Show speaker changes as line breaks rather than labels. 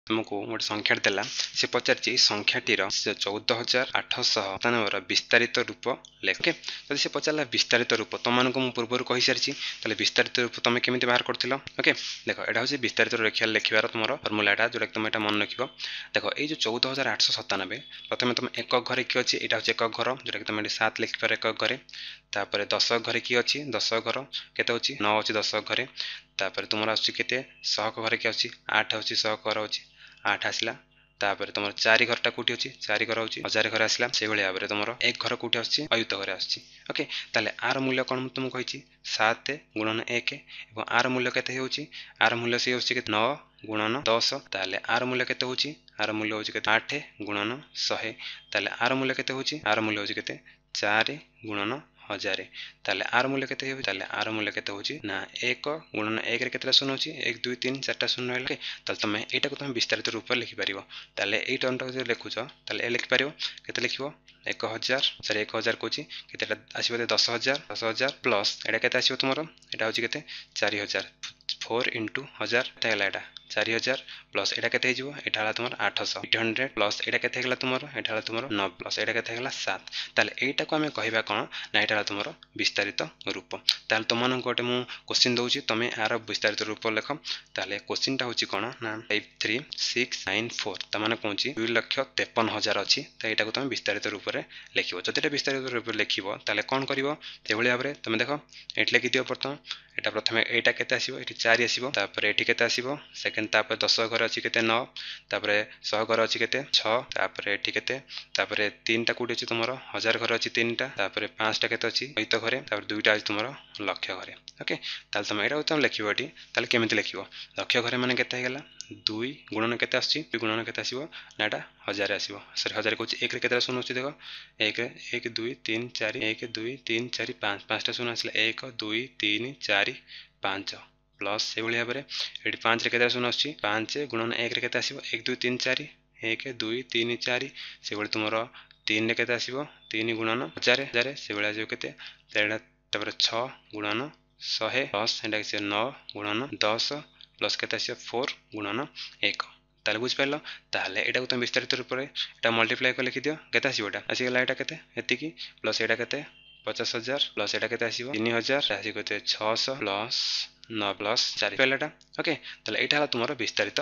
ତୁମକୁ ଗୋଟେ ସଂଖ୍ୟାଟେ ଦେଲା, ସେ ପଚାରିଛି ଏଇ ସଂଖ୍ୟାଟିର 14,897ର ବିସ୍ତାରିତ ରୂପ ଲେଖ। ଓକେ, ଯଦି ସେ ପଚାରିଲା ବିସ୍ତାରିତ ରୂପ, ତୁମମାନଙ୍କୁ ମୁଁ ପୂର୍ବରୁ କହିସାରିଛି, ତାହେଲେ ବିସ୍ତାରିତ ରୂପ ତୁମେ କେମିତି ବାହାର କରୁଥିଲ? ଓକେ, ଦେଖ, ଏଇଟା ହେଉଛି ବିସ୍ତାରିତ ରେଖା ଲେଖିବାର ତୁମର ଫର୍ମୁଲାଟା, ଯେଉଁଟାକି ତୁମେ ଏଇଟା ମନେ ରଖିବ। ଦେଖ, ଏଇ ଯେଉଁ 14,897, ପ୍ରଥମେ ତୁମେ ଏକକ ଘରେ କିଏ ଅଛି? ଏଇଟା ହେଉଛି ଏକକ ଘର, ଯେଉଁଟାକି ତୁମେ ଏଠି 7 ଲେଖିପାର ଏକକ ଘରେ। ତାପରେ ଦଶକ ଘରେ କିଏ ଅଛି? ଦଶକ ଘର କେତେ ଅଛି? 9 ଅଛି ଦଶକ ଘରେ। ତାପରେ ତୁମର ଆସୁଛି କେତେ? ଶହକ ଘରେ କିଏ ଆସୁଛି? 8 ହେଉଛି, ଶହକ ଘର ଅଛି, 8 ଆସିଲା। ତାପରେ ତୁମର 4 ଘରଟା କେଉଁଠି ଅଛି? 4 ଘର ହେଉଛି ହଜାର ଘରେ ଆସିଲା। ସେଇଭଳି ଭାବରେ ତୁମର 1 ଘର କେଉଁଠି ଆସୁଛି? ଅୟୁତ ଘରେ ଆସୁଛି। ଓକେ, ତାହେଲେ ଆର ମୂଲ୍ୟ କ'ଣ? ମୁଁ ତୁମକୁ କହିଛି 7 ଗୁଣନ 1, ଏବଂ ଆର ମୂଲ୍ୟ କେତେ ହେଉଛି? ଆର ମୂଲ୍ୟ ସେ ହେଉଛି କେତେ? 9 ଗୁଣନ 10। ତାହେଲେ ଆର ମୂଲ୍ୟ କେତେ ହେଉଛି? ଆର ମୂଲ୍ୟ ହେଉଛି କେତେ? 8 ଗୁଣନ 100। ତାହେଲେ ଆର ମୂଲ୍ୟ କେତେ ହେଉଛି? ଆର ମୂଲ୍ୟ ହେଉଛି କେତେ? 4 ଗୁଣନ 1000। ତାହେଲେ ଆର ମୂଲ୍ୟ କେତେ ହେବ? ତାହେଲେ ଆର ମୂଲ୍ୟ କେତେ ହେଉଛି ନା 1 ଗୁଣନ 1ରେ କେତେଟା ଶୂନ ଅଛି? 1, 2, 3, 4ଟା ଶୂନ ରହିଲା। ତାହେଲେ ତମେ ଏଇଟାକୁ ତମେ ବିସ୍ତାରିତ ରୂପରେ ଲେଖିପାରିବ। ତାହେଲେ ଏଇ ଟର୍ମଟାକୁ ଯଦି ଲେଖୁଛ, ତାହେଲେ ଏ ଲେଖିପାରିବ କେତେ? ଲେଖିବ 1000, ସରି, 1000 କହୁଛି, କେତେଟା ଆସିବ? 10,000। 10,000 ପ୍ଲସ୍ ଏଇଟା କେତେ ଆସିବ ତୁମର? ଏଇଟା ହେଉଛି କେତେ? 4000। 4 ଇଣ୍ଟୁ 1000 କେତେ ହେଲା? ଏଇଟା 4000 ପ୍ଲସ୍ ଏଇଟା କେତେ ହେଇଯିବ? ଏଇଟା ହେଲା ତୁମର 800, 800 ପ୍ଲସ୍ ଏଇଟା କେତେ ହେଇଗଲା ତୁମର? ଏଇଟା ହେଲା ତୁମର 9 ପ୍ଲସ୍ ଏଇଟା କେତେ ହେଇଗଲା? 7। ତାହେଲେ ଏଇଟାକୁ ଆମେ କହିବା କ'ଣ ନା ଏଇଟା ହେଲା ତୁମର ବିସ୍ତାରିତ ରୂପ। ତାହେଲେ ତୁମମାନଙ୍କୁ ଗୋଟେ ମୁଁ କୋଶ୍ଚିନ୍ ଦେଉଛି, ତୁମେ ଆର ବିସ୍ତାରିତ ରୂପ ଲେଖ। ତାହେଲେ କୋଶ୍ଚିନ୍ଟା ହେଉଛି କ'ଣ ନା 5 3 6 9 4, ତାମାନେ କହୁଛି 2,53,000 ଅଛି। ତ ଏଇଟାକୁ ତୁମେ ବିସ୍ତାରିତ ରୂପରେ ଲେଖିବ। ଯଦି ଏଇଟା ବିସ୍ତାରିତ ରୂପରେ ଲେଖିବ, ତାହେଲେ କ'ଣ କରିବ? ସେଇଭଳି ଭାବରେ ତୁମେ ଦେଖ, ଏଇଠି ଲେଖିଦିଅ ପ୍ରଥମ ଏଇଟା। ପ୍ରଥମେ ଏଇଟା କେତେ ଆସିବ? ଏଠି 4 ଆସିବ। ତାପରେ ଏଠି କେତେ ଆସିବ? ସେକେଣ୍ଡ। ତାପରେ ଦଶ ଘରେ ଅଛି କେତେ? 9। ତାପରେ ଶହ ଘରେ ଅଛି କେତେ? 6। ତାପରେ ଏଠି କେତେ? ତାପରେ 3ଟା କେଉଁଠି ଅଛି ତୁମର? ହଜାର ଘରେ ଅଛି 3ଟା। ତାପରେ 5ଟା କେତେ ଅଛି? ଅୟୁତ ଘରେ। ତାପରେ 2ଟା ଅଛି ତୁମର ଲକ୍ଷ ଘରେ। ଓକେ, ତାହେଲେ ତମେ ଏଇଟାକୁ ତମେ ଲେଖିବ ଏଠି। ତାହେଲେ କେମିତି ଲେଖିବ? ଲକ୍ଷ ଘରେ ମାନେ କେତେ ହେଇଗଲା? 2 ଗୁଣନ କେତେ ଆସୁଛି? 2 ଗୁଣନ କେତେ ଆସିବ ନା ଏଇଟା 1000 ଆସିବ, ସରି, 1000 କହୁଛି, 1ରେ କେତେଟା ଶୂନ ଅଛି ଦେଖ। 1, 1, 2, 3, 4, 1, 2, 3, 4, 5, 5ଟା ଶୂନ ଆସିଲା, 1, 2, 3, 4, 5। ପ୍ଲସ୍ ସେଇଭଳି ଭାବରେ ଏଠି 5ରେ କେତେଟା ଶୂନ ଆସୁଛି? 5 ଗୁଣନ 1ରେ କେତେ ଆସିବ? 1, 2, 3, 4, 1, 2, 3, 4। ସେଭଳି ତୁମର 3ରେ କେତେ ଆସିବ? 3 ଗୁଣନ 1000, 1000। ସେଭଳି ଆସିବ କେତେ ଏଇଟା? ତାପରେ 6 ଗୁଣନ 100 ପ୍ଲସ୍ ଏଇଟା ଆସିବ 9 ଗୁଣନ 10 ପ୍ଲସ୍ କେତେ ଆସିବ? 4 ଗୁଣନ 1। ତାହେଲେ ବୁଝିପାରିଲ? ତାହେଲେ ଏଇଟାକୁ ତୁମେ ବିସ୍ତାରିତ ରୂପରେ ଏଇଟା ମଲ୍ଟିପ୍ଲାଏ କରି ଲେଖିଦିଅ। କେତେ ଆସିବ? ଏଇଟା ଆସିଗଲା, ଏଇଟା କେତେ? ଏତିକି। ପ୍ଲସ୍ ଏଇଟା କେତେ? 50,000। ପ୍ଲସ୍ ଏଇଟା କେତେ ଆସିବ? 3000। ଆସିବ କେତେ? 600 ପ୍ଲସ୍ 9 ପ୍ଲସ୍ 4 ପାଇଲା ଏଇଟା। ଓକେ, ତାହେଲେ ଏଇଟା ହେଲା ତୁମର ବିସ୍ତାରିତ